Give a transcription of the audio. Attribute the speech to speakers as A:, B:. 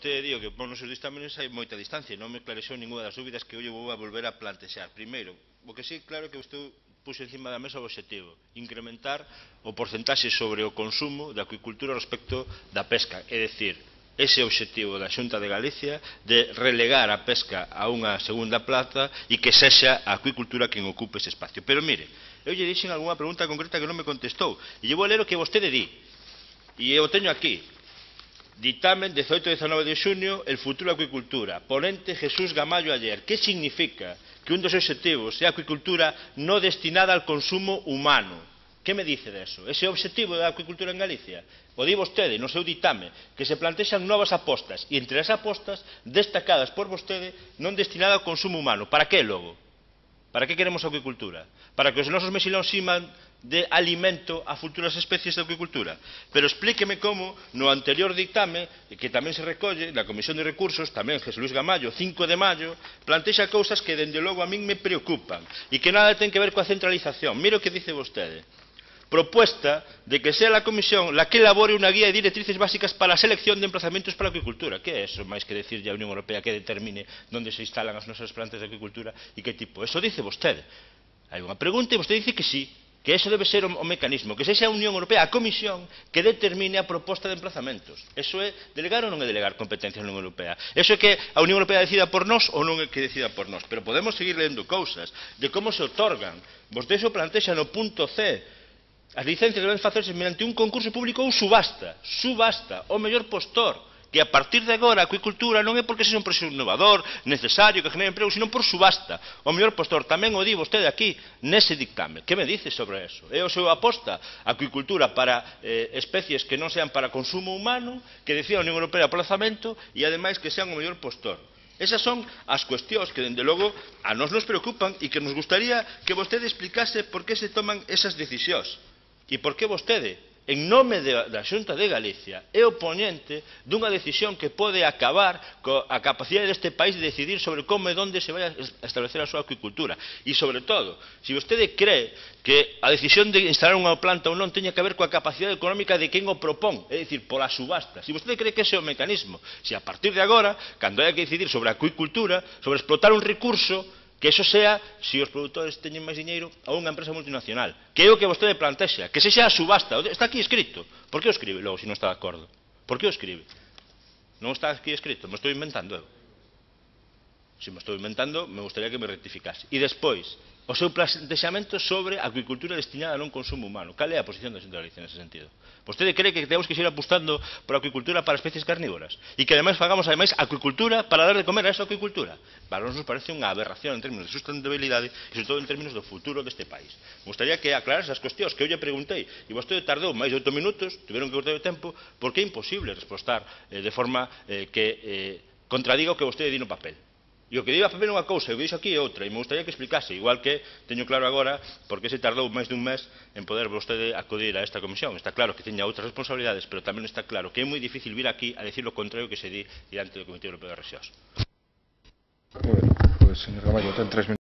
A: vostede di o que pon nos seus dictámenes hai moita distancia, non me clarexou ninguna das dúbidas que eu vou a volver a plantexar. Primeiro, o que sí, claro que vostede puxo encima da mesa o objetivo, incrementar o porcentaxe sobre o consumo da acuicultura respecto da pesca, é dicir, ese obxectivo da Xunta de Galicia de relegar a pesca a unha segunda plaza e que sexa a acuicultura quen ocupe ese espacio. Pero mire, eu lle dixen algunha pregunta concreta que non me contestou, e lle vou ler o que vostede di, e eu teño aquí. Dictamen 18-19 de xunio, el futuro acuicultura, ponente Jesús Gamallo Aller. ¿Qué significa que un dos objetivos sea acuicultura no destinada al consumo humano? ¿Qué me dice de eso? ¿Ese objetivo da acuicultura en Galicia? O di vostede no seu ditame que se plantexan novas apostas e entre as apostas destacadas por vostede non destinada ao consumo humano. Para que logo? Para que queremos acuicultura? Para que os nosos mexilóns siman de alimento a futuras especies de acuicultura. Pero explíqueme como no anterior dictame, que tamén se recolle na Comisión de Recursos, tamén Jesús Luis Gamallo, 5 de maio, plantexa cousas que dende logo a min me preocupan e que nada ten que ver coa centralización. Mira o que dice vostede. Propuesta de que sea la Comisión la que elabore una guía de directrices básicas para la selección de emplazamientos para a acuicultura. Que é eso, máis que decir a Unión Europea que determine onde se instalan as nosas plantas de acuicultura e que tipo? Eso dice vostede. Hai unha pregunta e vostede dice que sí, que eso debe ser o mecanismo, que sexa a Unión Europea, a Comisión, que determine a proposta de emplazamentos. Eso é delegar ou non é delegar competencias na Unión Europea? Eso é que a Unión Europea decida por nós ou non é que decida por nós? Pero podemos seguir lendo cousas de como se otorgan. Vostede xo plantexa no punto C. As licencias deben facerse mediante un concurso público ou subasta. Subasta, o mellor postor. Que a partir de agora a acuicultura non é porque sexa un proxecto innovador, necesario, que genere emprego, sino por subasta. O mellor postor, tamén o di vostede aquí, nese dictame. Que me dice sobre eso? É o seu aposta a acuicultura para especies que non sean para consumo humano, que decía a Unión Europea aplazamento, e ademais que sean o mellor postor. Esas son as cuestións que, dende logo, a nós nos preocupan e que nos gustaría que vostede explicase por que se toman esas decisións. E por que vostede, en nome da Xunta de Galicia, é oponente dunha decisión que pode acabar coa capacidade deste país de decidir sobre como e onde se vai a establecer a súa acuicultura. E, sobre todo, se vostede cree que a decisión de instalar unha planta ou non teña que ver coa capacidade económica de quen o propón, é dicir, pola subasta, se vostede cree que ese é o mecanismo, se a partir de agora, cando hai que decidir sobre a acuicultura, sobre explotar un recurso, que eso sea, se os produtores teñen máis diñeiro, a unha empresa multinacional. Que é o que vostede plantexa, que sexa a subasta. Está aquí escrito. Por que o escribe logo, se non está de acordo? Por que o escribe? Non está aquí escrito, me estou inventando eu. Se me estou inventando, me gustaría que me rectificase. E despois, o seu plantexamento sobre a acuicultura destinada a non consumo humano. Cal é a posición da Xunta de Galicia nese sentido? Vostede cree que temos que seguir apostando por a acuicultura para especies carnívoras? E que ademais fagamos acuicultura para dar de comer a esa acuicultura? Para nós nos parece unha aberración en términos de sustentabilidade e sobre todo en términos do futuro deste país. Me gustaría que aclarase as cuestións que eu lle preguntei e vostede tardou máis de 8 minutos, tiveron que cortar o tempo, porque é imposible respostar de forma que contradiga o que vostede di no papel. E o que diga a papel é unha cousa, e o que dixo aquí é outra, e me gustaría que explicase, igual que teño claro agora por que se tardou máis dun mes en poder vostede acudir a esta comisión. Está claro que teña outras responsabilidades, pero tamén está claro que é moi difícil vir aquí a decir o contrario que se di diante do Comité Europeo de Rexións.
B: Pues, señor Gamallo, ten 3 minutos.